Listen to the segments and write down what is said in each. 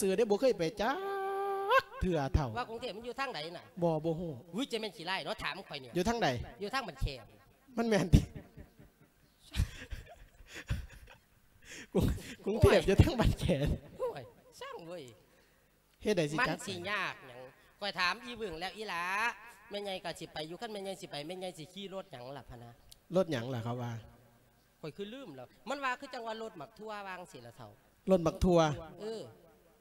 ຊື່ເດ້ ບໍ່ເຄີຍໄປຈັກເທື່ອເຖົ້າ. ວ່າກຸງເທບມັນຢູ່ທາງໃດນະ? ບໍ່ ບໍ່ຮູ້. ຫື ຈະແມ່ນຂີ້ຮ້າຍເນາະ ຖາມຂ້ອຍນີ້. ຢູ່ທາງໃດ? ຢູ່ທາງບ້ານແຂກ. ມັນແມ່ນຕິ? ກຸງ ກຸງເທບຢູ່ທາງບ້ານແຂກ. ໂອ້ຍ ຊ່າງເວີຍ. ເຮັດໃດຊິຈັກ ມັນຊິຍາກຫຍັງ? ຂ້ອຍຖາມອີ່ບຶ້ງແລ້ວ ອີ່ຫຼ້າ ແມ່ໃຫຍ່ກໍຊິໄປຢູ່ ຄັນແມ່ໃຫຍ່ຊິໄປ ແມ່ໃຫຍ່ຊິຂີ່ລົດຫຍັງລະພະນະ? ລົດຫຍັງລະເຂົາວ່າ? ຂ້ອຍຄືລືມແລ້ວ ມັນວ່າຄືຈັ່ງວ່າລົດໝາກຖົ່ວວ່າຈັ່ງຊີ້ລະເຖົ້າ. ລົດໝາກຖົ່ວ? ເອີ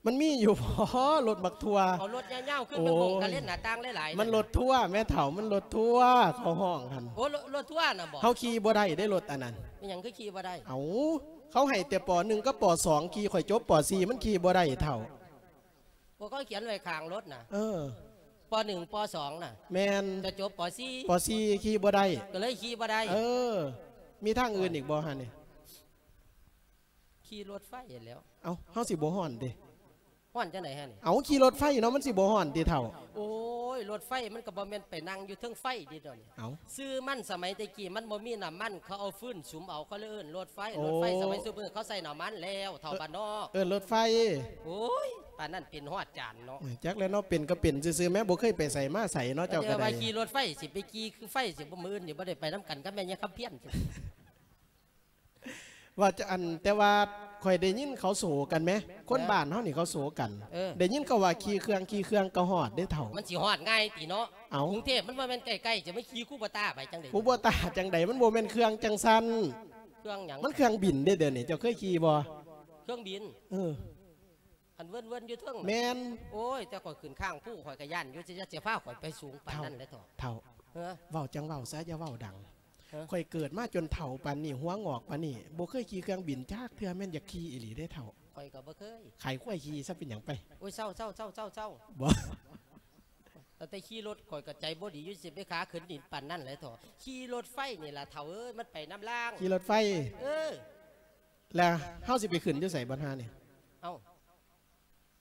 ມັນມີຢູ່ບໍ ລົດໝາກຖົ່ວ? ເອົາລົດຍາວໆ ຂຶ້ນໄປໂຮງກະເຫຼັ້ນໜ້າຕ່າງຫຼາຍໆ ມັນລົດຖົ່ວແມ່ເຖົ້າ ມັນລົດຖົ່ວເຂົາຮ້ອງຫັ້ນ. ໂອ້ ລົດຖົ່ວນະບໍ? ເຮົາຂີ່ບໍ່ໄດ້ເດ້ລົດອັນນັ້ນ. ເປັນຫຍັງຄືຂີ່ບໍ່ໄດ້? ເອົ້າ ເຂົາໃຫ້ແຕ່ ປໍໜຶ່ງ ກັບ ປໍສອງ ຂີ່ ຂ້ອຍຈົບ ປໍສີ່ ມັນຂີ່ບໍ່ໄດ້ເຖົ້າ. ໂອ້ ເຂົາຂຽນໄວ້ຂ້າງລົດນະ. ເອີ ປໍໜຶ່ງ ປໍສອງ ນະ. ແມ່ນ. ຈະຈົບ ປໍສີ່ ປໍສີ່ ຂີ່ບໍ່ໄດ້ ກໍເລີຍຂີ່ບໍ່ໄດ້. ເອີ ມີທາງອື່ນອີກບໍ່ຫັ້ນນີ້? ຂີ່ລົດໄຟຫັ້ນແຫຼ້ວ. ເອົ້າ ເຮົາຊິບໍ່ຮ້ອນຕິ? ຮ້ອນຈັ່ງໃດຫັ້ນ? ເອົ້າ ຂີ່ລົດໄຟເນາະ ມັນຊິບໍ່ຮ້ອນຕິເຖົ້າ? ໂອ້ຍ ລົດໄຟມັນກໍບໍ່ແມ່ນໄປນັ່ງຢູ່ເທິງໄຟເດ້ດອກນີ້. ເອົ້າ ຊື່ມັນ ສະໄໝແຕ່ກີ້ມັນບໍ່ມີນ້ຳມັນ ເຂົາເອົາຟືນສຸມເອົາ ເຂົາເລີຍເອີ້ນລົດໄຟ. ໂອ້ ລົດໄຟສະໄໝຊຸມື້ເຂົາໃສ່ນ້ຳມັນແລ້ວ ເຖົ້າບ້ານນອກ. ເອີ້ນລົດໄຟ. ໂອ້ຍ ປານນັ້ນເປັນຮອດຈານເນາະ. ຈັກແລ້ວເນາະ ເປັນກໍເປັນຊື່ໆ ແມ່ບໍ່ເຄີຍໄປໃສມາໃສເນາະ ເຈົ້າກໍໄດ້. ວ່າຂີ່ລົດໄຟ ຊິໄປຂີ່ຄືໄຟ ຊິບໍ່ ມື້ອື່ນນີ້ບໍ່ໄດ້ໄປນຳກັນກັບແມ່ຍາຄຳພຽນ. ວ່າຈະ ອັນ ແຕ່ວ່າຂ້ອຍໄດ້ຍິນເຂົາໂສກັນແມ ຄົນ ເອີ ບ້ານເຮົານີ້ເຂົາໂສກັນ. ເອີ ໄດ້ຍິນເຂົາວ່າຂີ່ເຄື່ອງ ຂີ່ເຄື່ອງກໍຮອດເດ້ເຖົ້າ. ມັນຊິຮອດງ່າຍຕິເນາະ? ເອົ້າ ກຸງເທບມັນບໍ່ແມ່ນໃກ້ໆ ຈະມາຂີ່ຄູໂບຕ້າໄປຈັ່ງໃດ? ຄູໂບຕ້າຈັ່ງໃດ? ມັນບໍ່ແມ່ນເຄື່ອງຈັ່ງຊັ້ນ. ເຄື່ອງຫຍັງ? ມັນເຄື່ອງບິນເດ້ດຽວນີ້ ເຈົ້າເຄີຍຂີ່ບໍ່? ເຄື່ອງບິນ? ເອີ ອັນເວີນໆຢູ່ເທິງນະ. ແມ່ນ. ໂອ້ຍ ແຕ່ຂ້ອຍຂຶ້ນຂ້າງພູ ຂ້ອຍກໍຢ້ານຢູ່ ຈະ ຈະພາຂ້ອຍໄປສູງປານນັ້ນເດ້ເຖົ້າ. ເຖົ້າ ເອີ ເວົ້າຈັ່ງເວົ້າຊະ ຢ່າເວົ້າດັງ. ເອີ ຂ້ອຍເກີດມາຈົນເຖົ້າປານນີ້ ຫົວງອກປານນີ້ ບໍ່ເຄີຍຂີ່ເຄື່ອງບິນຈັກເທື່ອ ແມ່ນຢາກຂີ່ອີ່ຫຼີເດ້ເຖົ້າ. ຂ້ອຍກໍບໍ່ເຄີຍ. ຂາຍຄວາຍຂີ່ຊະ ເປັນຫຍັງໄປ. ໂອ້ຍ ເຊົາໆໆໆໆ. ບໍ່ ຕັ້ງແຕ່ຂີ່ລົດຂ້ອຍກໍໃຈບໍ່ດີຢູ່ ຊິໄປຂາຂຶ້ນດິນປານນັ້ນແຫຼະເຖາະ. ຂີ່ລົດໄຟນີ້ລະເຖົ້າເອີຍ ມັນໄປນຳລາງ. ຂີ່ລົດໄຟ? ເອີ ແລ້ວເຮົາຊິໄປຂຶ້ນຢູ່ໃສບັດຫານີ້? ເອົ້າ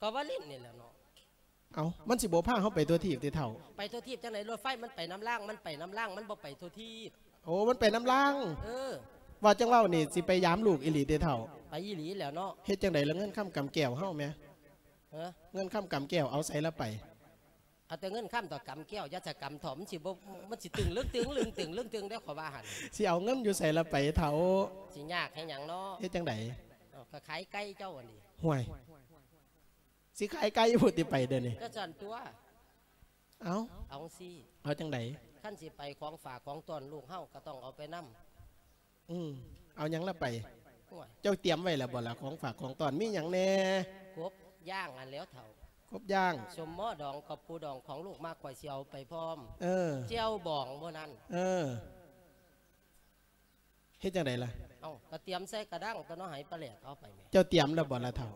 ກໍວາລິນນີ້ແຫຼະເນາະ. ເອົ້າ ມັນຊິບໍ່ພາເຮົາໄປທົ່ວທີບຕິເຖົ້າ? ໄປທົ່ວທີບຈັ່ງໃດ? ລົດໄຟມັນໄປນຳລາງ ມັນໄປນຳລາງ ມັນບໍ່ໄປທົ່ວທີບ. ໂອ້ ມັນໄປນຳລາງ. ເອີ ວ່າຈັ່ງເວົ້ານີ້ ຊິໄປຢາມລູກອີ່ຫຼີຕິເຖົ້າ? ໄປອີ່ຫຼີແຫຼະເນາະ. ເຮັດຈັ່ງໃດລະ ເງິນຄຳກຳແກ້ວເຮົາແມ? ຮະ? ເງິນຄຳກຳແກ້ວເອົາໃສລະໄປ? ເອົາແຕ່ເງິນຄຳຕໍ່ກຳແກ້ວ ຢ່າສະກຳເຖາະ ມັນຊິບໍ່ ມັນຊິຕຶງລຶ້ງຕຶງລຶ້ງຕຶງລຶ້ງຕຶງເດ້ ຂ້ອຍວ່າຫັ້ນ. ຊິເອົາເງິນຢູ່ໃສລະໄປເຖົ້າ? ຊິຍາກໃຫ້ຫຍັງເນາະ. ເຮັດຈັ່ງໃດ? ເອົາ ກໍຂາຍໄກ່ເຈົ້າຫັ້ນເດ. ຫ້ວຍ ຊິຂາຍໄກ່ພຸ້ນຕິໄປດຽວນີ້? ກໍຊັ້ນຕົວະ. ເອົ້າ ເອົາຈັ່ງຊີ້ ເອົາຈັ່ງໃດ? ຄັນຊິໄປຂອງຝາກຂອງຕ້ອນລູກເຮົາກໍຕ້ອງເອົາໄປນຳ. ອືມ ເອົາຫຍັງລະໄປ? ໂອ້ຍ ເຈົ້າຕຽມໄວ້ແລ້ວບໍ່ລະ ຂອງຝາກຂອງຕ້ອນ ມີຫຍັງແດ່? ກົບຍ່າງຫັ້ນແຫຼ້ວເຖົ້າ. ກົບຍ່າງ? ສົມໝໍດອງກັບປູດອງຂອງລູກມາ ຂ້ອຍຊິເອົາໄປພ້ອມ. ເອີ ແຈ່ວບອງມື້ນັ້ນ. ເອີ ເຮັດຈັ່ງໃດລະ? ເອົ້າ ກໍຕຽມໃສ່ກະດັງຕົວະເນາະ ໃຫ້ປາແຫຼດເອົາໄປແໝ່. ເຈົ້າຕຽມແລ້ວບໍ່ລະເຖົ້າ?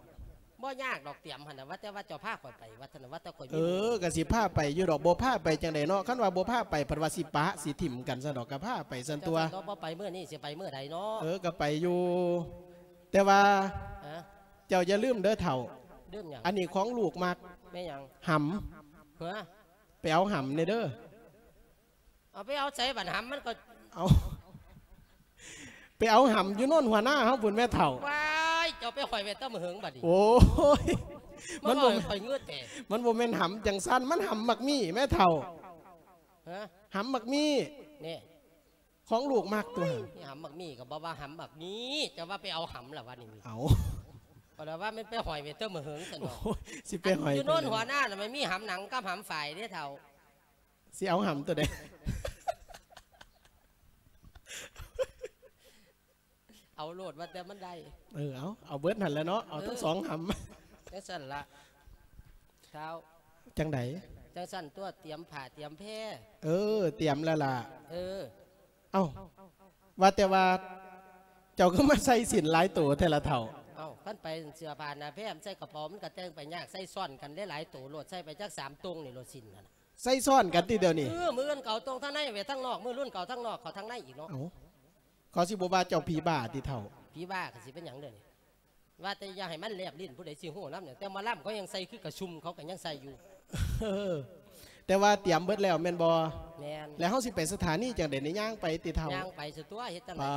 ບໍ່ຍາກດອກຕຽມຫັ້ນນະ ວ່າແຕ່ວ່າເຈົ້າພາຂ້ອຍໄປ ວ່າຊັ້ນນະ ວ່າແຕ່ຂ້ອຍມີ. ເອີ ກໍຊິພາໄປຢູ່ດອກ ບໍ່ພາໄປຈັ່ງໃດເນາະ? ຄັນວ່າບໍ່ພາໄປ ພັດວ່າຊິປະຊິຖິ້ມກັນຊັ້ນດອກ ກໍພາໄປຊັ້ນຕົວະ. ເຈົ້າ ບໍ່ໄປມື້ນີ້ ຊິໄປມື້ໃດເນາະ? ເອີ ກໍໄປຢູ່ ແຕ່ວ່າ ຮະ? ເຈົ້າຢ່າລືມເດີເຖົ້າ. ລືມຫຍັງ? ອັນນີ້ຂອງລູກມັກ. ແມ່ນຫຍັງ? ຫຳ. ຮະ? ໄປເອົາຫຳແດ່ເດີ. ເອົາໄປເອົາໃສບັດຫຳ ມັນກໍ ເອົາ ໄປເອົາຫຳຢູ່ໂນນຫົວໜ້າເຮົາພຸ້ນແມ່ເຖົ້າ. ວ້າຍ ເຈົ້າໄປຫ້ອຍໄວ້ແຕ່ມື້ເຫິງບັດນີ້. ໂອ້ຍ ມັນບໍ່ ມັນບໍ່ແມ່ນຫຳຈັ່ງຊັ້ນ ມັນຫຳໝາກມີ້ແມ່ເຖົ້າ. ຮະ? ຫຳໝາກມີ້ ນີ້ ຂອງລູກມັກຕົວະ. ໂອ້ຍ ຫຳໝາກມີ້ກໍບໍ່ວ່າຫຳໝາກມີ້ ຈະວ່າໄປເອົາຫຳລະວະນີ້. ເອົາ ກໍລະວ່າແມ່ນໄປຫ້ອຍໄວ້ແຕ່ມື້ເຫິງຊັ້ນດອກ. ໂອ້ຍ ຊິໄປຫ້ອຍຢູ່ໂນນຫົວໜ້ານະ ມັນມີຫຳໜັງກັບຫຳຝ້າຍເດ້ເຖົ້າ. ຊິເອົາຫຳຕົວໃດ? ເອົາໂລດວ່າແຕ່ມັນໄດ້. ເອີ ເອົາ ເອົາເບິດຫັ້ນແຫຼະເນາະ ເອົາທັງສອງຫຳ. ຈັ່ງຊັ້ນລະທ້າວ. ຈັ່ງໃດ? ຈັ່ງຊັ້ນຕົວະ ຕຽມຜ້າຕຽມແພ. ເອີ ຕຽມແລ້ວລະ. ເອີ ເອົ້າ ວ່າແຕ່ວ່າເຈົ້າຄືມາໃສ່ສິ້ນຫຼາຍໂຕແທ້ລະເຖົ້າ? ເອົ້າ ຄັນໄປເສື້ອຜ້າໜ້າແພ ໃສ່ກະເປົາ ມັນກໍແຕ່ງໄປຍາກ ໃສ່ຊ້ອນກັນຫຼາຍໆໂຕໂລດ ໃສ່ໄປຈັກສາມຕົງນີ້ໂລດ ສິ້ນຫັ້ນນະ. ໃສ່ຊ້ອນກັນຕິດຽວນີ້? ເອີ ມື້ອື່ນກໍເອົາຕົງທາງໃນໄວ້ທາງນອກ ມື້ລຸ້ນກໍເອົາທາງນອກເຂົ້າທາງໃນອີກເນາະ. ເອົ້າ ເຂົາຊິບໍ່ວ່າເຈົ້າຜີບ້າຕິເຖົ້າ? ຜີບ້າກໍຊິເປັນຫຍັງດຽວນີ້? ວ່າແຕ່ຢ່າໃຫ້ມັນແລບລິ້ນ ຜູ້ໃດຊິຮູ້ນຳ. ແຕ່ໝໍລຳເຂົາຍັງໃສ່ຄືກະຊຸ່ມ ເຂົາກໍຍັງໃສ່ຢູ່. ເອີ ແຕ່ວ່າຕຽມເບິດແລ້ວແມ່ນບໍ່? ແມ່ນ. ແລ້ວເຮົາຊິໄປສະຖານີຈັ່ງໃດນີ້? ຍ່າງໄປຕິເຖົ້າ? ຍ່າງໄປຊະຕົວະ ເຮັດຈັ່ງໃດ? ປາ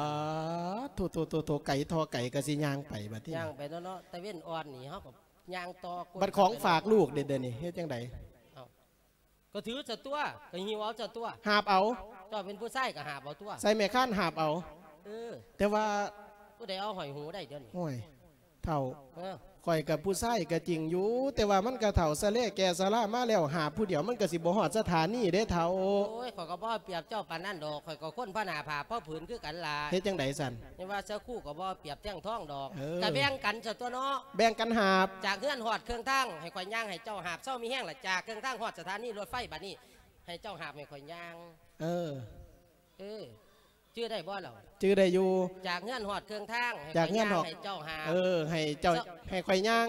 ດ ໂທ້ໆໆໆ ໄກທໍ່ໄກກໍຊິຍ່າງໄປບັດນີ້. ຍ່າງໄປເນາະ ຕາເວັນອ່ອນນີ້ ເຮົາກໍ ຍ່າງຕໍ່ ບັດຂອງຝາກລູກເດ ດຽວນີ້ເຮັດຈັ່ງໃດ? ເອົ້າ ກໍຖືສະຕົວະ ກໍຫິ້ວເອົາສະຕົວະ ຫາບເອົາ. ເຈົ້າເປັນຜູ້ຊາຍກໍຫາບເອົາຕົວະ ໃສ່ແມ່ຄານຫາບເອົາ. ເອີ ແຕ່ວ່າ ຜູ້ໃດເອົາຫ້ອຍຫູໄດ້ດຽວນີ້? ໂອ້ຍ ເຖົ້າ ເອີ ຂ້ອຍກໍຜູ້ຊາຍກໍຈິງຢູ່ ແຕ່ວ່າມັນກໍເຖົ້າຊະເລແກ່ຊະລາມາແລ້ວ ຫາບຜູ້ດຽວມັນກໍຊິບໍ່ຮອດສະຖານີເດ້ເຖົ້າ. ໂອ້ຍ ຂ້ອຍກໍບໍ່ເອົາປຽບເຈົ້າປານນັ້ນດອກ ຂ້ອຍກໍຄົນພະໜ້າຜ້າພະຜືນຄືກັນລະ. ເຮັດຈັ່ງໃດຊັ້ນ? ຍັງວ່າເສື້ອຄູ່ກໍບໍ່ເອົາປຽບແທ່ງທອງດອກ. ເອີ ກໍແບ່ງກັນຊະຕົວະເນາະ ແບ່ງກັນຫາບ. ຈາກເຮືອນຮອດເຄິ່ງທາງ ໃຫ້ຂ້ອຍຍ່າງ ໃຫ້ເຈົ້າຫາບ. ເຊົາມີແຮງລະ ຈາກເຄິ່ງທາງຮອດສະຖານີລົດໄຟ ບາດນີ້ໃຫ້ເຈົ້າຫາບ ໃຫ້ຂ້ອຍຍ່າງ. ເອີ ເອີ ຈື່ໄດ້ບໍ່ລາວ? ຈື່ໄດ້ຢູ່. ຈາກເຮືອນຮອດເຄິ່ງທາງ ໃຫ້ ຈາກເຮືອນຮອດ ໃຫ້ເຈົ້າຫາບ. ເອີ ໃຫ້ເຈົ້າ ເຈົ້າ ໃຫ້ຂ້ອຍຍ່າງ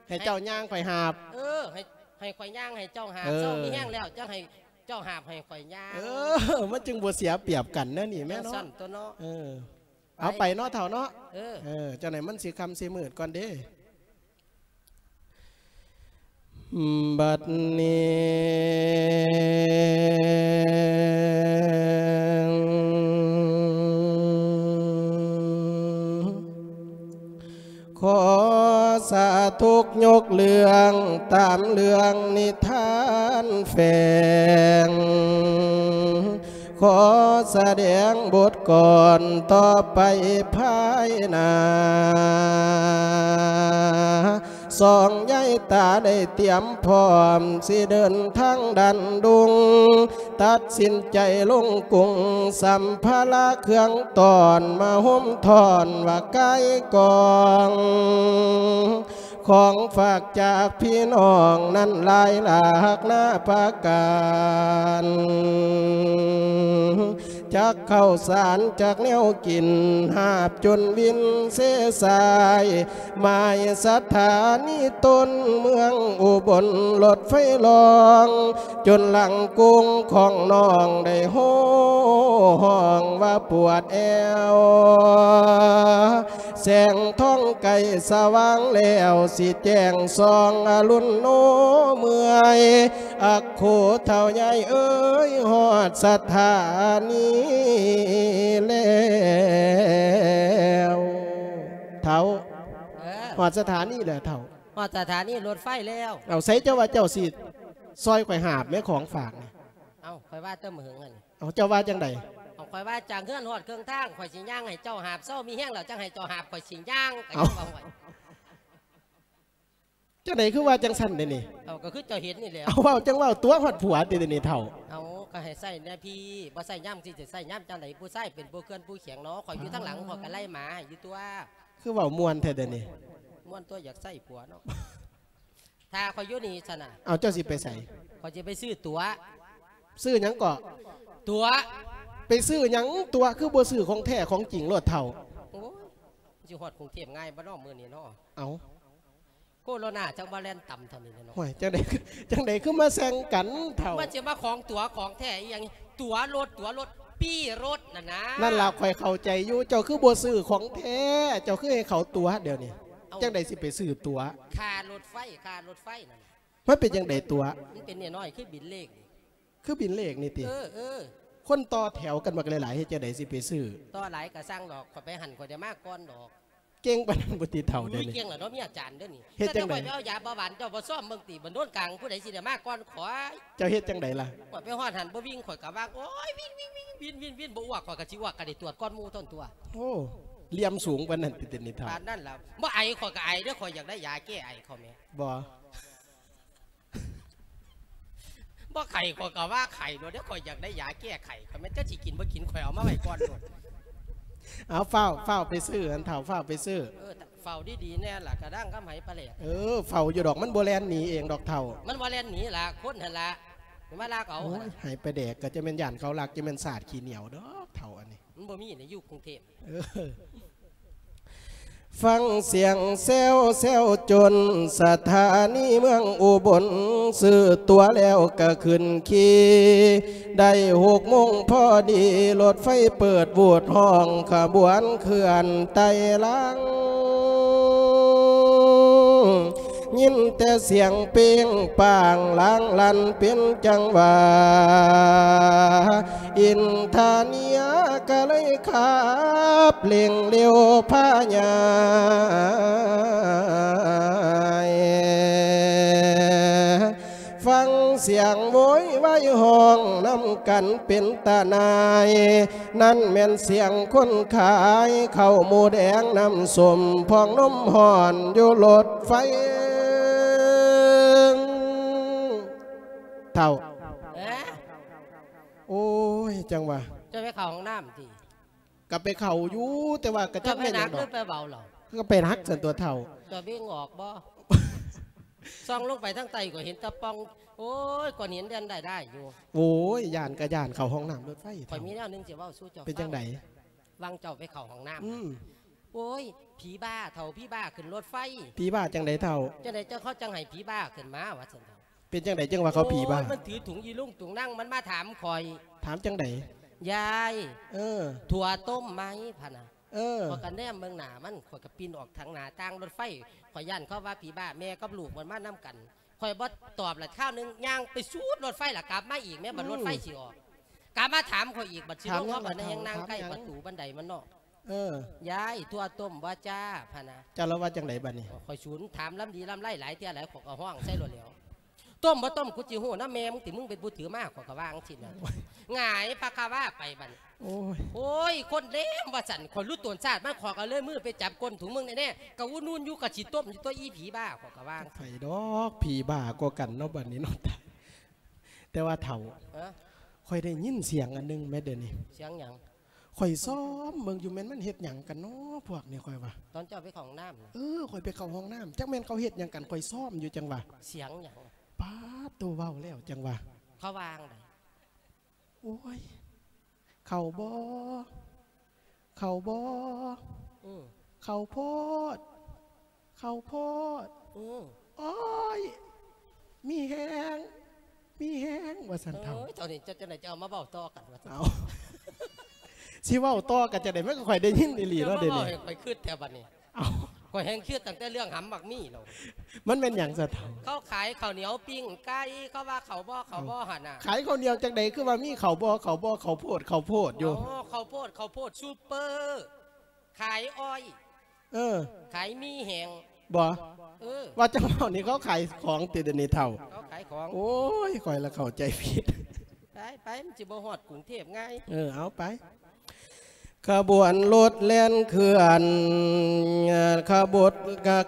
ໃຫ້ເຈົ້າຍ່າງ ຂ້ອຍຫາບ. ເອີ ໃຫ້ ໃຫ້ຂ້ອຍຍ່າງ ໃຫ້ເຈົ້າຫາບ. ເອີ ເຊົາມີແຮງແລ້ວ ຈັ່ງໃຫ້ເຈົ້າຫາບ ໃຫ້ຂ້ອຍຍ່າງ. ເອີ ມັນຈຶ່ງບໍ່ເສຍປຽບກັນແນວນີ້ແມ່ເນາະ. ຈັ່ງຊັ້ນຕົວະເນາະ. ເອີ ເອົາໄປເນາະເຖົ້າເນາະ. ເອີ ເອີ ຈັ່ງໃດມັນຊິຄ່ຳຊິມືດກ່ອນເດ້. ບັດນີ້ ຂໍສາທຸກຍົກເລື່ອງຕາມເລື່ອງນິທານແຝງ ຂໍສະແດງບົດກ່ອນຕໍ່ໄປພາຍໜ້າ ສອງຍາຍຕາໄດ້ຕຽມພ້ອມ ຊິເດີນທາງດັນດຸງ ຕັດສິນໃຈລົງກຸງ ສຳພາລະເຄື່ອງຕ້ອນ ມາໂຮມທ້ອນວ່າກາຍກອງ ຂອງຝາກຈາກພີ່ນ້ອງນັ້ນຫຼາຍຫຼາກນາປະການ ຈັກເຂົ້າສານຈັກແນວກິນ ຫາບຈົນວິນເຊສາຍ ໝາຍສະຖານີຕົ້ນເມືອງອຸບົນ ລົດໄຟລ່ອງ ຈົນຫຼັງກຸງຂອງນ້ອງໄດ້ໂຫ່ຮ້ອງວ່າປວດແອວ ແສງທອງໃກ້ສະຫວ່າງແລ້ວ ຊິແຈ້ງສ່ອງອະລຸນໂນເມື່ອຍ ອັກໂຄເຖົ້າໃຫຍ່ເອີຍ ຮອດສະຖານີແລ້ວ. ເຖົ້າ ເອີ ຮອດສະຖານີແລ້ວເຖົ້າ. ຮອດສະຖານີລົດໄຟແລ້ວ. ເອົາ ໃສເຈົ້າວ່າເຈົ້າຊິຊ່ອຍຂ້ອຍຫາບແມ້ຂອງຝາກນີ້? ເອົ້າ ຂ້ອຍວ່າແຕ່ມື້ເຫິງຫັ້ນ. ເອົາ ເຈົ້າວ່າຈັ່ງໃດ? ເອົາ ຂ້ອຍວ່າຈາກເຮືອນຮອດເຄິ່ງທາງ ຂ້ອຍຊິຍ່າງໃຫ້ເຈົ້າຫາບ ເຊົາມີແຮງແລ້ວຈັ່ງໃຫ້ເຈົ້າຫາບ ຂ້ອຍຊິຍ່າງ ກໍຍັງວ່າ ໂອ້ຍ ຈັ່ງໃດຄືວ່າຈັ່ງຊັ້ນເດນີ້? ເອົາ ກໍຄືເຈົ້າເຫັນນີ້ແຫຼະ. ເອົາ ເວົ້າຈັ່ງເວົ້າຕົວະຮອດຜົວຕິເດນີ້ເຖົ້າ. ເອົາ ກໍໃຫ້ໃຊ້ແດ່ພີ່ ບໍ່ໃຊ້ຍາມຊິໃຊ້ຍາມຈັ່ງໃດ? ຜູ້ຊາຍເປັນຜູ້ເຄື່ອນຜູ້ແຂງເນາະ ຂ້ອຍຢູ່ທາງຫຼັງ ຂ້ອຍກໍໄລ່ໝາໃຫ້ຢູ່ຕົວະ. ຄືເວົ້າມ່ວນແທ້ເດນີ້. ມ່ວນຕົວະ ຢາກໃຊ້ຜົວເນາະ. ຖ້າຂ້ອຍຢູ່ນີ້ຊັ້ນນະ. ເອົາ ເຈົ້າຊິໄປໃສ? ຂ້ອຍຊິໄປຊື້ຕົ໋ວ. ຊື້ຫຍັງເກາະ? ຕົ໋ວ. ໄປຊື້ຫຍັງຕົ໋ວ? ຄືບໍ່ຊື້ຂອງແທ້ຂອງຈິງໂລດເຖົ້າ. ໂອ້ຍ ຊິຮອດກຸງເທບງ່າຍບໍ່ເນາະມື້ນີ້ເນາະ? ເອົາ ໂຄໂຣນາຈັ່ງວ່າແລ່ນຕຳເທົ່ານີ້ແຫຼະເນາະ. ໂອ້ຍ ຈັ່ງໃດ ຈັ່ງໃດຄືມາແຂ່ງກັນເຖົ້າ? ມັນຊິມາຂອງຕົ໋ວຂອງແທ້ອີ່ຫຍັງ? ຕົ໋ວລົດ ຕົ໋ວລົດ ປີ້ລົດນັ້ນນະ. ນັ້ນລະ ຂ້ອຍເຂົ້າໃຈຢູ່ ເຈົ້າຄືບໍ່ຊື້ຂອງແທ້ ເຈົ້າຄືໃຫ້ເຂົາຕົ໋ວດຽວນີ້? ເອົ້າ ຈັ່ງໃດຊິໄປຊື້ຕົ໋ວ? ຄ່າລົດໄຟ ຄ່າລົດໄຟນັ້ນ. ມັນເປັນຈັ່ງໃດຕົ໋ວ? ມັນເປັນນ້ອຍໆ ຄືບິນເລກນີ້. ຄືບິນເລກນີ້ຕິ? ເອີ ເອີ ຄົນຕໍ່ແຖວກັນບັກຫຼາຍໆ ເຮັດຈັ່ງໃດຊິໄປຊື້? ຕໍ່ຫຼາຍກໍຊ່າງດອກ ຂ້ອຍໄປຫັ້ນ ຂ້ອຍໄດ້ມາກ່ອນດອກ. ເກັ່ງປານນັ້ນບໍ່ຕິເຖົ້າເດນີ້? ເກັ່ງລະເນາະ ເມຍອາຈານເດີນີ້. ເຮັດຈັ່ງໃດ? ແຕ່ຂ້ອຍໄປເອົາຢາເບົາຫວານ ເຈົ້າບໍ່ຊອມເບິ່ງຕິ ບັນໂດນກາງ ຜູ້ໃດຊິໄດ້ມາກ່ອນຂ້ອຍ? ເຈົ້າເຮັດຈັ່ງໃດລະ? ຂ້ອຍໄປຮອດຫັ້ນບໍ່ວິ່ງ ຂ້ອຍກໍວ່າ ໂອ້ຍ ວິ່ງ ວິ່ງ ວິ່ງ ວິນ ວິນ ວິນ ບໍ່ອ້ວກ ຂ້ອຍກໍຊິອ້ວກ ກໍໄດ້ຕວດກ່ອນໝູ່ຕົນຕົ໋ວ. ໂອ້ ຫຼຽມສູງປານນັ້ນຕິ ເດນີ້ເຖົ້າ? ປານນັ້ນລະ. ບໍ່ໄອ ຂ້ອຍກໍໄອເດີ ຂ້ອຍຢາກໄດ້ຢາແກ້ໄອ ຂ້ອຍແໝ່. ບໍ່ ບໍ່ໄຂ້ ຂ້ອຍກໍວ່າໄຂ້ໂລດເດ້ ຂ້ອຍຢາກໄດ້ຢາແກ້ໄຂ້ ຂ້ອຍແມ່ນຈັກຊິກິນບໍ່ກິນ ຂ້ອຍເອົາມາໄວ້ກ່ອນໂລດ. ເອົາ ຟ້າວ ຟ້າວໄປຊື້ ອັນເຖົ້າ ຟ້າວໄປຊື້. ເອີ ເຝົ້າດີໆແດ່ລະ ກະດັງກັບໄຫປາແຫຼກ. ເອີ ເຝົ້າຢູ່ດອກ ມັນບໍ່ແລ່ນໜີເອງດອກເຖົ້າ. ມັນບໍ່ແລ່ນໜີລະ ຄົນຫັ້ນລະ ມາລາກເອົາ. ໂອ້ຍ ໄຫປາແດກ ກໍຈະແມ່ນຢ້ານເຂົາລັກ ຈະແມ່ນສາດຂີ້ໜຽວດອກເຖົ້າອັນນີ້. ມັນບໍ່ມີໃນຢູ່ກຸງເທບ. ເອີ ຟັງສຽງແຊວແຊວຈົນ ສະຖານີເມືອງອຸບົນ ຊື້ຕົ໋ວແລ້ວກະຂຶ້ນຂີ່ ໄດ້ຫົກໂມງພໍດີ ລົດໄຟເປີດວູດ ຮ້ອງຂະບວນເຄື່ອນໄຕ່ຫຼັງ ຍິນແຕ່ສຽງເປັງປາງລາງລັນເປັນຈັງຫວະ ອິນທາເນຍກະເລີຍຂັບເລັ່ງເລັວພາຍ່າຍ ສຽງໂວຍວາຍຮ້ອງນຳກັນເປັນຕາໜ່າຍ, ນັ້ນແມ່ນສຽງຄົນຂາຍເຂົ້າໝູແດງນ້ຳສົ້ມ ພອງນົມຮ້ອນຢູ່ລົດໄຟ. ເຖົ້າ ເອີ ໂອ້ຍ ຈັ່ງວ່າ ເຈົ້າໄປເຂົ້າຫ້ອງນ້ຳຕິ? ກໍໄປເຂົ້າຢູ່ ແຕ່ວ່າກໍຈັກແມ່ນຫຍັງດອກ ເຈົ້າໄປໜັກຫຼືໄປເບົາເຫຼົ່າ? ກໍໄປໜັກຊັ້ນຕົວະເຖົ້າ. ຕົວະເບັງອອກບໍ່? ສ່ອງລົງໄປທາງໃຕ້ກໍເຫັນແຕ່ປ່ອງ. ໂອ້ຍ ກ້ອນຫີນແລ່ນໄດ້ໆຢູ່. ໂອ້ຍ ຢ້ານກໍຢ້ານເຂົ້າຫ້ອງນ້ຳລົດໄຟ. ຂ້ອຍມີແນວໜຶ່ງຊິເວົ້າສູ່ເຈົ້າ. ເປັນຈັ່ງໃດ? ຫວ່າງເຈົ້າໄປເຂົ້າຫ້ອງນ້ຳ ອືມ ໂອ້ຍ ຜີບ້າເຖົ້າ ຜີບ້າຂຶ້ນລົດໄຟ. ຜີບ້າຈັ່ງໃດເຖົ້າ? ຈັ່ງໃດຈັ່ງເຂົາຈັ່ງໃຫ້ຜີບ້າຂຶ້ນມາວ່າຊັ້ນເຖົ້າ. ເປັນຈັ່ງໃດຈັ່ງວ່າເຂົາຜີບ້າ? ໂອ້ຍ ມັນຖືຖົງອີລຸງຕຸງນັງ ມັນມາຖາມຂ້ອຍ. ຖາມຈັ່ງໃດ? ຍາຍ ເອີ ຖົ່ວຕົ້ມໄໝ ພະນະ. ເອີ ຂ້ອຍກໍແນມເບິ່ງໜ້າມັນ ຂ້ອຍກໍປີນອອກທາງໜ້າຕ່າງລົດໄຟ. ຂ້ອຍຢ້ານເຂົາວ່າຜີບ້າ ແມ່ກັບລູກມັນມານຳກັນ. ຂ້ອຍບໍ່ຕອບລະ ຄາວໜຶ່ງຍ່າງໄປສູດລົດໄຟລະ ກັບມາອີກແມ່ ບັດ ອືມ ລົດໄຟຊິອອກ ກັບມາຖາມຂ້ອຍອີກ. ບາດຊິລົງ ຖາມຫຍັງ ເຮົາບັດແຮງ ລະເຖົ້າ? ນັ່ງໃກ້ ຖາມຫຍັງ? ປະຕູບັນໄດມັນເນາະ. ເອີ ຍາຍ ຖົ່ວຕົ້ມບໍ່ຈ້າ ພະນະ. ເຈົ້າລະວ່າຈັ່ງໃດບັດນີ້? ຂ້ອຍສູນຖາມລຳດີລຳໄລຫຼາຍເທື່ອຫຼາຍ ຂ້ອຍກໍຮ້ອງໃສ່ໂລດແຫຼ້ວ. ຕົ້ມບໍ່ຕົ້ມ ກູຊິຮູ້ນຳແມ່ມຶງຕິ ມຶງເປັນຜູ້ຖືມາ ຂ້ອຍກໍວ່າຈັ່ງຊີ້ນະ. ໂອ້ຍ ຫງາຍພະຄາວາໄປບັດນີ້. ໂອ້ຍ ໂອ້ຍ ຄົນເລວວ່າຊັ້ນ. ຂ້ອຍຮູ້ຕົນຊາດມັນ ຂ້ອຍກໍເລີຍມືໄປຈັບກົ້ນ ທຸມເບິ່ງແນ່ໆ ກະອຸ່ນໆຢູ່ ກະຊິຕົ້ມຢູ່ຕົວະ ອີຜີບ້າ ຂ້ອຍກໍວ່າ. ໃຜດອກ ຜີບ້າກວ່າກັນເນາະບັດນີ້ເນາະ. ແຕ່ວ່າເຖົ້າ ຮະ? ຂ້ອຍໄດ້ຍິນສຽງອັນໜຶ່ງແມ້ດຽວນີ້. ສຽງຫຍັງ? ຂ້ອຍຊອມເບິ່ງຢູ່ ແມ່ນມັນເຮັດຫຍັງກັນເນາະພວກນີ້ ຂ້ອຍວ່າ. ຕອນເຈົ້າໄປເຂົ້າຫ້ອງນ້ຳ? ເອີ ຂ້ອຍໄປເຂົ້າຫ້ອງນ້ຳ ຈັກແມ່ນເຂົາເຮັດຫຍັງກັນ ຂ້ອຍຊອມຢູ່ຈັ່ງວ່າ. ສຽງຫຍັງ? ປາດໂຕ ເວົ້າແລ້ວຈັ່ງວ່າ. ເຂົາວ່າຈັ່ງໃດ? ໂອ້ຍ ເຂົ້າບໍ່? ເຂົ້າບໍ່? ອືມ ເຂົ້າໂພດ ເຂົ້າໂພດ. ອືມ ໂອ້ຍ ມີແຮງ ມີແຮງ ວ່າຊັ້ນເຖົ້າ. ເອີຍ ເຈົ້ານີ້ ເຈົ້າຈັ່ງໃດ ຈະເອົາມາເວົ້າຕໍ່ກັນວ່າຊັ້ນ. ເອົາ ຊິເວົ້າຕໍ່ກັນຈັ່ງໃດ? ມັນກໍຂ້ອຍໄດ້ຍິນອີ່ຫຼີເນາະ ດຽວນີ້. ເຈົ້າມາເວົ້າໃຫ້ຂ້ອຍຄຶດແທ້ບັດນີ້. ເອົ້າ ຂ້ອຍແຮ່ງຄຶດຕັ້ງແຕ່ເລື່ອງຫຳໝາກມີ້ແລ້ວ. ມັນແມ່ນຫຍັງຊະເຖົ້າ? ເຂົາຂາຍເຂົ້າໜຽວປີ້ງໄກ່ ເຂົາວ່າເຂົ້າບໍ່ ເຂົ້າບໍ່ຫັ້ນນະ. ຂາຍເຂົ້າໜຽວຈັ່ງໃດ ຄືວ່າມີເຂົ້າບໍ່ ເຂົ້າບໍ່ ເຂົ້າໂພດ ເຂົ້າໂພດຢູ່. ອໍ ເຂົ້າໂພດ ເຂົ້າໂພດ ຊຸບເປີ ຂາຍອ້ອຍ. ເອີ ຂາຍມີແຮງ ບໍ່? ເອີ ວ່າຈັ່ງເວົ້ານີ້ ເຂົາຂາຍຂອງຕິ ດຽວນີ້ເຖົ້າ? ເຂົາຂາຍຂອງ. ໂອ້ຍ ຂ້ອຍລະເຂົ້າໃຈຜິດ. ໄປ ໄປ ມັນຊິບໍ່ຮອດກຸງເທບງ່າຍ. ເອີ ເອົາໄປ. ຂະບວນລົດແລ່ນເຄື່ອນ ຂະບົດ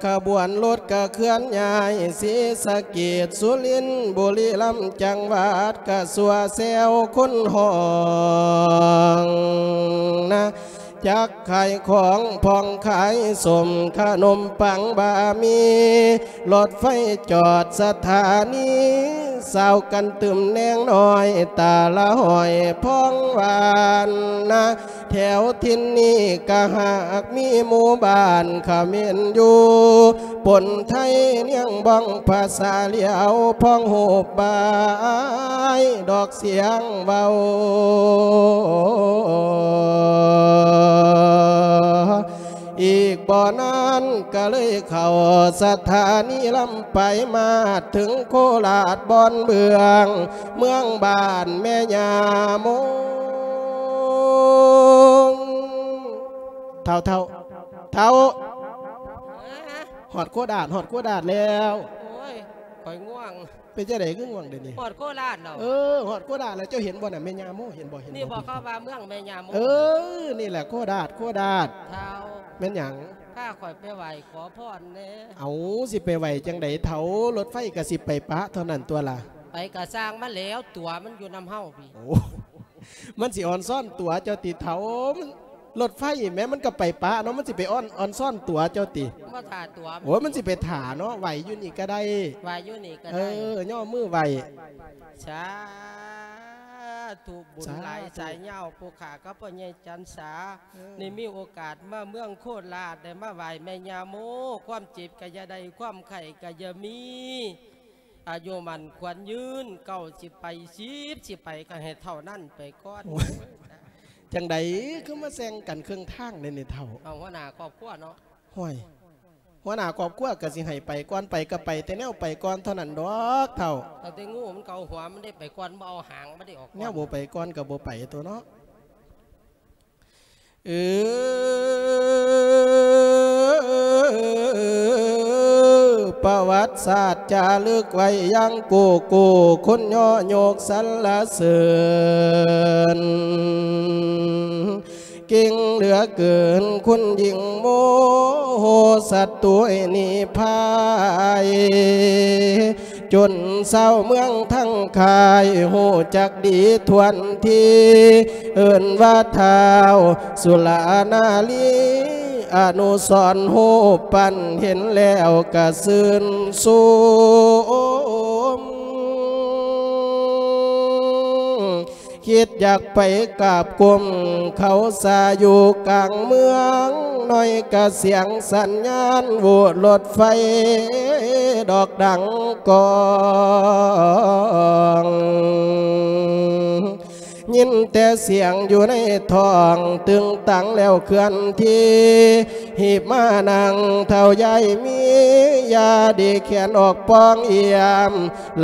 ຂະບວນລົດກະເຄື່ອນຍ້າຍ ສີສະເກດ ສຸລິນ ບຸລີລຳ ຈັງຫວັດກະຊົ່ວແຊວຄົນຫ້ອງນະ ຈັກຂາຍຂອງ ຜ່ອງຂາຍສົ້ມ ຂະໜົມປັງ ບະໝີ່ ລົດໄຟຈອດສະຖານີ ສາວກັນຕຶມແນງນ້ອຍ ຕາລະຫ້ອຍ ພອງຫວານນະ. ແຖວຖິ່ນນີ້ກະຫາກມີໝູ່ບ້ານຂະເໝນຢູ່ ປົນໄທນຽງບ້ອງພາສາຫຼຽວ ພ້ອງຮູບບາຍດອກສຽງເວົ້າ. ອີກບໍ່ນານກະເລີຍເຂົ້າສະຖານີລຳປາຍ ມາເຖິງໂຄລາດບ່ອນເບື້ອງ ເມືອງບ້ານແມ່ຍ່າໂມງ. ເຖົ້າ ເຖົ້າ ເຖົ້າ ຮະ? ຮອດໂຄລາດ ຮອດໂຄລາດແລ້ວ. ໂອ້ຍ ຂ້ອຍງ່ວງ. ເປັນຈັ່ງໃດຄືງ່ວງດຽວນີ້? ຮອດໂຄລາດແລ້ວ. ເອີ ຮອດໂຄລາດແລ້ວ. ເຈົ້າເຫັນບໍ່ນະ ແມ່ຍ່າໂມ ເຫັນບໍ່? ເຫັນບໍ່? ນີ້ບໍ່ ເຂົາວ່າເມືອງແມ່ຍ່າໂມ. ເອີ ນີ້ແຫຼະໂຄລາດ ໂຄລາດ. ທ້າວ ແມ່ນຫຍັງ? ພາຂ້ອຍໄປໄຫວ້ຂໍພອນແດ່. ເອົາ ຊິໄປໄຫວ້ຈັ່ງໃດເຖົ້າ? ລົດໄຟກະຊິໄປປະເທົ່ານັ້ນຕົວລະ. ໄປກະຊ່າງມັນແຫຼ້ວ ຕົວະມັນຢູ່ນຳເຮົາພີ້. ໂອ້ ມັນຊິອອນຊອນຕົວະເຈົ້າຕິເຖົ້າ? ມັນ ລົດໄຟແໝ ມັນກໍໄປປະເນາະ ມັນຊິໄປອອນ ອອນຊອນຕົວະເຈົ້າຕິ? ບໍ່ຖ້າຕົວະ. ໂອ້ຍ ມັນຊິໄປຖ້າເນາະ ໄຫວ້ຢູ່ນີ້ກໍໄດ້. ໄຫວ້ຢູ່ນີ້ກໍໄດ້. ເອີ ຍໍມືໄຫວ້. ສາທຸ ບຸນຫຼາຍ ສາທຸ ສາຍຍາວ ຜູ້ຂ້າກັບພໍ່ໃຫຍ່ຈັນສາ ເອີ ໄດ້ມີໂອກາດມາເມືອງໂຄລາດ ໄດ້ມາໄຫວ້ແມ່ຍ່າໂມ ຄວາມເຈັບກໍຢ່າໄດ້ ຄວາມໄຂ້ກໍຢ່າມີ ອາຍຸໝັ້ນຂວັນຍືນ ເກົ້າສິບໄປ ສິບສິໄປ ກໍໃຫ້ເທົ່ານັ້ນໄປກ່ອນ. ໂອ້ຍ ຈັ່ງໃດຄືມາແຊງກັນເຄິ່ງທາງແນວນີ້ເຖົ້າ? ເອົາ ຫົວໜ້າຄອບຄົວເນາະ. ຫ້ວຍ ຫົວໜ້າຄອບຄົວກໍຊິໃຫ້ໄປກ່ອນ ໄປກໍໄປແຕ່ແນວໄປກ່ອນເທົ່ານັ້ນດອກເຖົ້າ. ຕັ້ງແຕ່ງູມັນເກົາຫົວ ມັນໄດ້ໄປກ່ອນ ບໍ່ເອົາຫາງມັນໄດ້ອອກກ່ອນ. ແນວບໍ່ໄປກ່ອນກໍບໍ່ໄປຕົວະເນາະ. ປະຫວັດສາດຈາລຶກໄວ້ຢ່າງກູ້ໆ ຄົນຍໍຍົກສັນລະເສີນ ເກັ່ງເຫຼືອເກີນ ຄຸນຍິ່ງໂມໂຫສັດຕວຍນິພາຍ ຈົນຊາວເມືອງທັງຄ້າຍ ຮູ້ຈັກດີຖ້ວນທີ ເອີ້ນວ່າທ້າວສຸລານາລີ ອະນຸສອນຮູບປັ້ນ ເຫັນແລ້ວກະຊື່ນຊົມ ຄິດຢາກໄປກາບກົ້ມເຂົາສາ ຢູ່ກາງເມືອງນ້ອຍກະສຽງສັນຍານ ໂຫວດລົດໄຟດອກດັງກ້ອງ ຍິນແຕ່ສຽງຢູ່ໃນທ້ອງ ຕຶງຕັງແລ້ວເຄື່ອນທີ່ ຮີບມານັ່ງເຖົ້າຍາຍມີ ຢ່າເດແຂນອອກປ່ອງອຽມ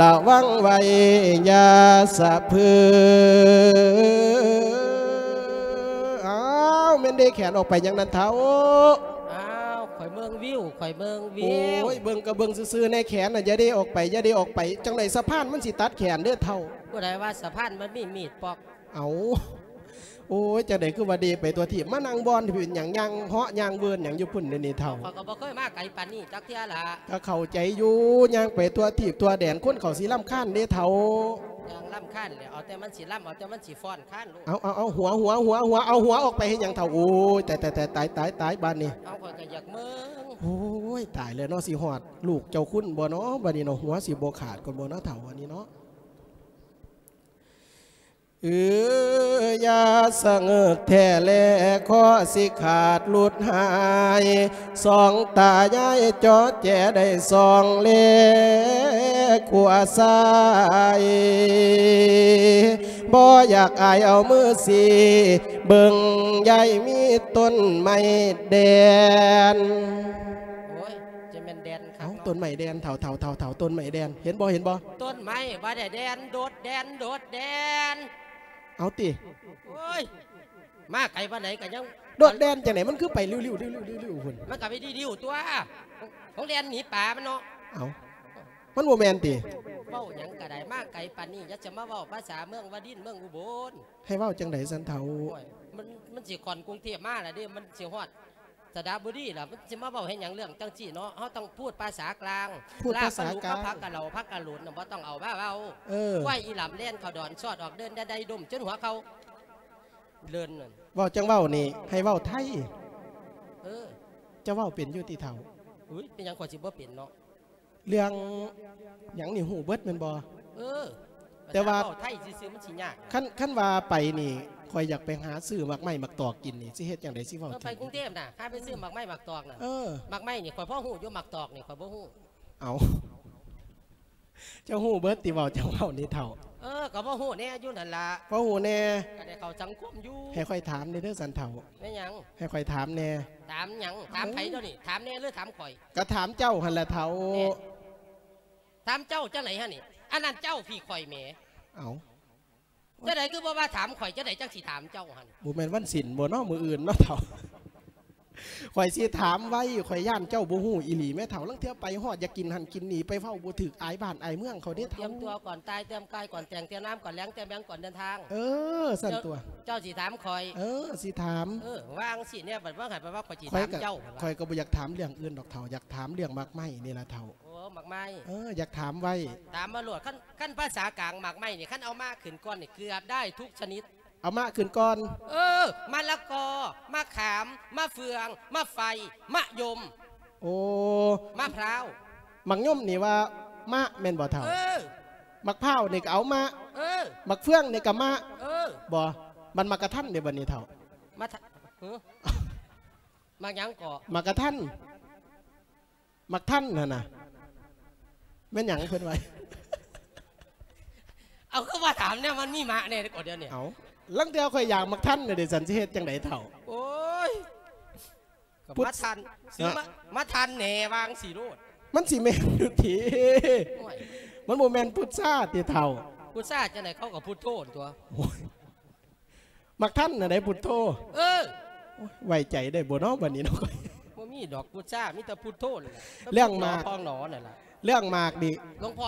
ລະວັງໄວ້ຢ່າສະເພີ. ອ້າວ ແມ່ນເດແຂນອອກໄປຫຍັງນັ້ນເຖົ້າ? ອ້າວ ຂ້ອຍເບິ່ງວິວ ຂ້ອຍເບິ່ງວິວ. ໂອ້ຍ ເບິ່ງກະເບິ່ງຊື່ໆ ແນ່ ແຂນນະຢ່າເດອອກໄປ ຢ່າເດອອກໄປ. ຈັ່ງໃດສະພານມັນຊິຕັດແຂນເດີເຖົ້າ. ຜູ້ໃດວ່າສະພານມັນມີມີດປອກ? ເອົາ ໂອ້ຍ ຈັ່ງໃດຄືວ່າເດໄປທົ່ວທີບ ມານັ່ງບ່ອນທີ່ເປັນຫຍັງ ຍ່າງເຫາະຍ່າງເວີນຫຍັງຢູ່ພຸ້ນເດນີ້ເຖົ້າ? ຂ້ອຍກໍບໍ່ເຄີຍມາໄກປານນີ້ຈັກເທື່ອລະ. ກໍເຂົ້າໃຈຢູ່ ຍ່າງໄປທົ່ວທີບທົ່ວແດນ ຄົນເຂົາຊິລຳຄານເດ້ເຖົ້າ. ຢ່າງລຳຄານແຫຼະ ເອົາແຕ່ມັນຊິລຳ ເອົາແຕ່ມັນຊິຟ້ອນຄານໂລດ. ເອົາ ເອົາ ເອົາ ຫົວ ຫົວ ຫົວ ຫົວ ເອົາຫົວອອກໄປເຮັດຫຍັງເຖົ້າ? ໂອ້ຍ ຕາຍ ຕາຍ ຕາຍ ບາດນີ້. ເອົາ ຂ້ອຍກໍຢາກເບິ່ງ. ໂອ້ຍ ຕາຍແລ້ວເນາະ ຊິຮອດລູກເຈົ້າຄຸນບໍ່ເນາະ ບາດນີ້ເນາະ ຫົວຊິບໍ່ຂາດກ່ອນບໍ່ເນາະເຖົ້າ ອັນນີ້ເນາະ. ເອີ ຢ່າສະເຫງີກແທ້ແລ ຂໍຊິຂາດຫຼຸດຫາຍ ສອງຕາຍາຍເຈາະແຈໄດ້ສອງແລ ຂົວຊ້າຍ ບໍ່ຢາກອາຍເອົາມືຊີ້ ເບິ່ງຍາຍມີຕົ້ນໄມ້ແດນ. ໂອ້ຍ ຈະແມ່ນແດນ ເອົາ ເນາະ ຕົ້ນໄມ້ແດນ ເຖົ້າ ເຖົ້າ ເຖົ້າ ເຖົ້າ ຕົ້ນໄມ້ແດນ ເຫັນບໍ່ ເຫັນບໍ່? ຕົ້ນໄມ້ບໍ່ໄດ້ແດນ ໂດດແດນ ໂດດແດນ. ເອົາຕິ ໂອ້ຍ ມາໄກປານໃດກໍຍັງ ໂດດແດນຈັ່ງໃດ ມັນຄືໄປລິ້ວໆ ລິ້ວໆ ລິ້ວໆ ພຸ້ນ? ມັນກໍໄປລິ້ວໆ ຕົວະ ຂອງແດນໜີປາມັນເນາະ. ເອົາ ມັນບໍ່ແມ່ນຕິ? ເວົ້າຫຍັງກໍໄດ້ ມາໄກປານນີ້ ຢ່າຈະມາເວົ້າພາສາເມືອງວາລິນ ເມືອງອຸບົນ. ໃຫ້ເວົ້າຈັ່ງໃດຊັ້ນເຖົ້າ? ໂອ້ຍ ມັນ ມັນຊິຂ້ອນກຸງເທບມາລະເດ້ ມັນຊິຮອດ ສະລະບູລີລະ ມັນຊິມາເວົ້າເຮັດຫຍັງເລື່ອງຈັ່ງຊີ້ເນາະ. ເຮົາຕ້ອງພູດພາສາກາງ ພູດພາສາກາງ ລາບປາລູກກັບຜັກກະເຫຼົາ ຜັກກະໂຫຼນນະ ບໍ່ຕ້ອງເອົາມາເວົ້າ. ເອີ ຄວາຍອີ່ຫຼຳແລ່ນເຂົ້າດອນ ຊອດອອກເດີ່ນ ໄດ້ດົມຈົນຫົວເຂົ່າເລີນນັ້ນ. ເວົ້າຈັ່ງເວົ້ານີ້ ໃຫ້ເວົ້າໄທ. ເອີ ເຈົ້າເວົ້າເປັນຢູ່ຕິເຖົ້າ? ອຸ້ຍ ເປັນຫຍັງຂ້ອຍຊິບໍ່ເປັນເນາະ? ເລື່ອງຫຍັງນີ້ຮູ້ເບິດແມ່ນບໍ່? ເອີ ແຕ່ວ່າ ພາສາເວົ້າໄທຊື່ໆ ມັນຊິຍາກ. ຄັນ ຄັນວ່າໄປນີ້ ຂ້ອຍຢາກໄປຫາຊື້ໝາກໄມ້ໝາກຕອກກິນນີ້ ຊິເຮັດຈັ່ງໃດ ຊິເວົ້າ ເອີ ໄປກຸງເທບນະ ຫາໄປຊື້ໝາກໄມ້ໝາກຕອກນະ. ເອີ ໝາກໄມ້ນີ້ຂ້ອຍພໍຮູ້ຢູ່ ໝາກຕອກນີ້ຂ້ອຍບໍ່ຮູ້. ເອົ້າ ເຈົ້າຮູ້ເບິດຕິ ເວົ້າ ເຈົ້າເວົ້ານີ້ເຖົ້າ? ເອີ ກໍພໍຮູ້ແດ່ຢູ່ຫັ້ນລະ. ພໍຮູ້ແດ່ ກໍໄດ້ເຂົ້າສັງຄົມຢູ່. ໃຫ້ຂ້ອຍຖາມແດ່ເດີ ຊັ້ນເຖົ້າ. ແມ່ນຫຍັງ? ໃຫ້ຂ້ອຍຖາມແດ່. ຖາມຫຍັງ? ຖາມໃຜດຽວນີ້? ຖາມແດ່ຫຼືຖາມຂ້ອຍ? ກໍຖາມເຈົ້າຫັ້ນລະເຖົ້າ. ແນ່ ຖາມເຈົ້າຈັ່ງໃດຫັ້ນນີ້? ອັນນັ້ນເຈົ້າ ພີ້ຂ້ອຍແໝ. ເອົ້າ ຈັ່ງໃດຄືບໍ່ວ່າຖາມຂ້ອຍ ຈັ່ງໃດຈັ່ງຊິຖາມເຈົ້າຫັ້ນ? ບໍ່ແມ່ນວັນສິນບໍ່ເນາະ ມື້ອື່ນເນາະເຖົ້າ? ຂ້ອຍຊິຖາມໄວ້ ຂ້ອຍຢ້ານເຈົ້າບໍ່ຮູ້ອີ່ຫຼີແມ້ເຖົ້າ. ລາງເທື່ອໄປຮອດຢາກກິນຫັ້ນກິນນີ້ ໄປເວົ້າບໍ່ຖືກ ອາຍບ້ານອາຍເມືອງເຂົາເດ້ເຖົ້າ. ຕຽມຕົວກ່ອນຕາຍ ຕຽມກາຍກ່ອນແຕ່ງ ຕຽມນ້ຳກ່ອນແລງ ຕຽມຫຍັງກ່ອນເດີນທາງ. ເອີ ຊັ້ນຕົວະ ເຈົ້າຊິຖາມຂ້ອຍ. ເອີ ຊິຖາມ. ເອີ ວ່າຈັ່ງຊີ້ແນ່ ບັດວ່າໃຫ້ໄປວ່າຂ້ອຍຊິຖາມເຈົ້າ. ຂ້ອຍກໍບໍ່ຢາກຖາມເລື່ອງອື່ນດອກເຖົ້າ ຢາກຖາມເລື່ອງໝາກໄມ້ນີ້ລະເຖົ້າ. ໂອ້ ໝາກໄມ້. ເອີ ຢາກຖາມໄວ້. ຖາມມາໂລດ. ຄັນ ຄັນພາສາກາງໝາກໄມ້ນີ້ ຄັນເອົາມາຂຶ້ນກ່ອນນີ້ ເກືອບໄດ້ທຸກຊະນິດ. ເອົາມາຂຶ້ນກ່ອນ. ເອີ ມະລະກອ ມະຂາມ ມະເຟືອງ ມະໄຟ ມະຍົມ. ໂອ້ ມະພ້າວ. ໝາກຍົມນີ້ວ່າມະແມ່ນບໍ່ເຖົ້າ? ເອີ ໝາກພ້າວນີ້ກໍເອົາມະ. ເອີ ໝາກເຟືອງນີ້ກໍມະ. ເອີ ບໍ່ ມັນໝາກກະທັນເດ້ບັດນີ້ເຖົ້າ. ມະທະ ຫື ໝາກຫຍັງເກາະ? ໝາກກະທັນ. ໝາກທັນຫັ້ນນະ ແມ່ນຫຍັງເພິ່ນວ່າ? ເອົາ ຄືວ່າຖາມແນວມັນມີມະແດ່ເກາະດຽວນີ້. ເອົາ ລາງເທື່ອຂ້ອຍຢາກໝາກທັນເດ້ ຊັ້ນຊິເຮັດຈັ່ງໃດເຖົ້າ? ໂອ້ຍ ກໍ ພຸດ ມາທັນ ຊື້ມາ ມາທັນແດ່ ວ່າຈັ່ງຊີ້ໂລດ. ມັນຊິແມ່ນຢູ່ຕິ? ໂອ້ຍ ມັນບໍ່ແມ່ນພຸດຊາຕິເຖົ້າ? ພຸດຊາຈັ່ງໃດ ເຂົາກໍພຸດໂທຕົວະ. ໂອ້ຍ ໝາກທັນນະໄດ໋ ພຸດໂທ. ເອີ ໂອ້ຍ ໄວ້ໃຈໄດ້ບໍ່ເນາະບັດນີ້ເນາະ? ບໍ່ ມີດອກ ປູຊາມີແຕ່ພຸດໂທນັ້ນແຫຼະ ເລື່ອງໝາກ ຂອງໜໍນັ້ນລະ ເລື່ອງໝາກນີ້ ຫຼວງພໍ່